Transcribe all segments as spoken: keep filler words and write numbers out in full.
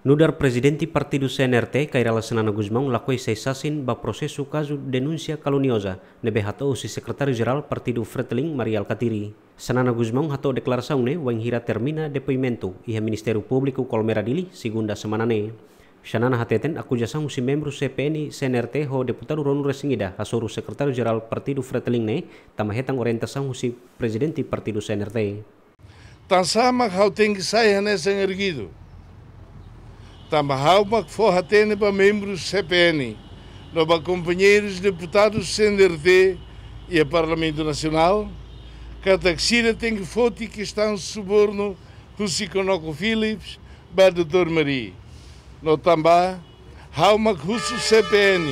Nu'udar Prezidente Partidu C N R T, Kay Rala Xanana Gusmão, lakohi sai sasin ba prosesu kazu denúnsia kalunioza ne'ebé hato'o husi Sekretáriu Jerál Partidu Fretilin, Mari Alkatiri. Xanana Gusmão hato'o deklarasaun ne'e wainhira termina depoimentu iha Ministériu Públiku Colmera Dili, segunda semana ne'e. Xanana hateten akuzasaun husi membru C P N C N R T ho deputadu ruanulu-resin-ida hasoru Sekretáriu Jerál Partidu Fretilin ne'e tama hetan orientasaun husi Prezidente Partidu C N R T. Tansá mak ha'u tenke sai hanesan arguidu? Tanba ha'u mak fó hatene ba membru C P N no ba kompañeirus deputadu C N R T iha Parlamentu Nasionál katak sira tenke foti kestaun subornu husi ConocoPhillips ba doutór Mari. No tanba ha'u mak husu C P N.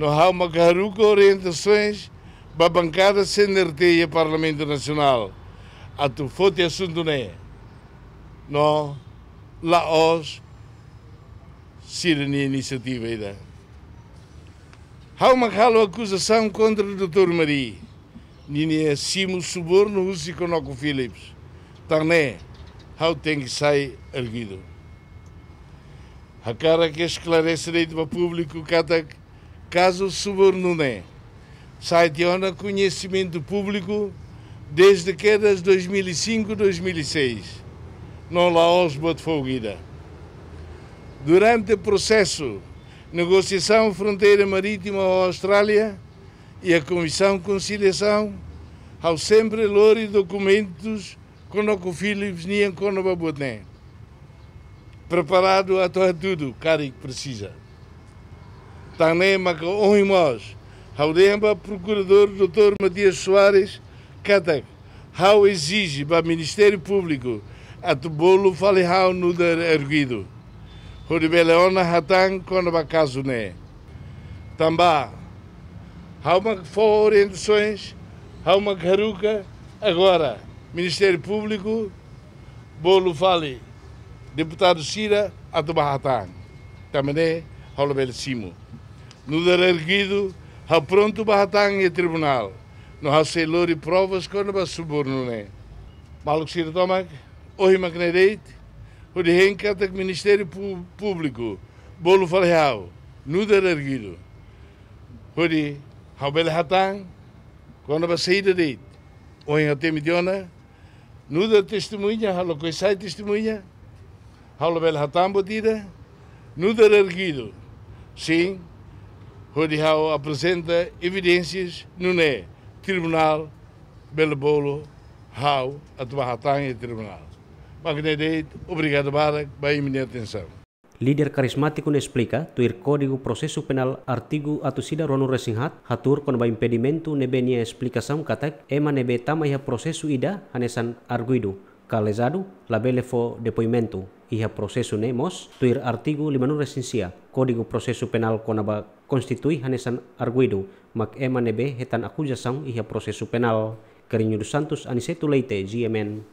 No ha'u mak haruka orientasoens ba bankada C N R T iha Parlamentu Nasionál atu foti asuntu ne'e. No la'ós sira-nia inisiativa ida. Ha'u mak halo akuzasaun kontra doutór Mari ninia simu subornu husi ConocoPhillips. Tan ne'e, ha'u tenke sai arguidu. Hakarak esklarese de'it ba públiku katak kazu subornu ne'e sai tiha ona koñesimentu públiku dezde kedas dois mil e cinco, dois mil e seis. No la'ós buat fogo ida. Durante prosesu negosiasaun fronteira marítima ho Austrália iha Komisaun Konsiliasaun, ha'u sempre lori dokumentus ConocoPhillips nian kona-ba buat ne'e. Preparadu atu hatudu karik presiza. Tan ne'e maka ohin mós ha'u dehan ba Prokuradór doutór Matias Soares katak ha'u ezije ba Ministériu Públiku atu bolu fali ha'u nu'udar arguidu, hodi bele ona hatán kona-ba kazu ne'e. Tanba ha'u mak fó orientasoens, ha'u mak haruka, agora Ministériu Públiku bolu fali deputadu sira atu bá hatán. Tanba ne'e ha'u labele simu. Nu'udar arguidu, ha'u prontu bá hatán iha tribunál. No ha'u sei lori provas kona-ba subornu ne'e. Maluk sira tomak, ohin mak ne'e de'it, hodi hein katak Ministériu Pú-, Públiku bolu fali ha'u nu'udar arguidu, hodi ha'u bele hatán kona-ba saida de'it. Ohin ha'u temi tiha ona, nu'udar testemuña, ha'u lakohi sai testemuña, ha'u labele hatán buat ida, nu'udar arguidu, sin, hodi ha'u aprezenta evidénsias nune'e tribunál bele bolu ha'u atu bá hatán iha tribunál. Mak ne'e de'it, obrigadu barak ba imi-nia atensaun. Líder karizmátiku ne'e esplika, tuir Kódigu Prosesu Penál artigu atus ida ruanulu-resin-haat, hatuur kona-ba impedimentu ne'ebé nia esplikasaun katak ema ne'ebé tama iha prosesu ida hanesan arguidu ka lezadu labele fó depoimentu iha prosesu ne'e mós, tuir artigu limanulu-resin-sia Kódigu Prosesu Penál kona-ba konstitui hanesan arguidu, mak ema ne'ebé hetan akuzasaun iha prosesu penál. Carrinho dos Santos, Aniceto Leite, G M N.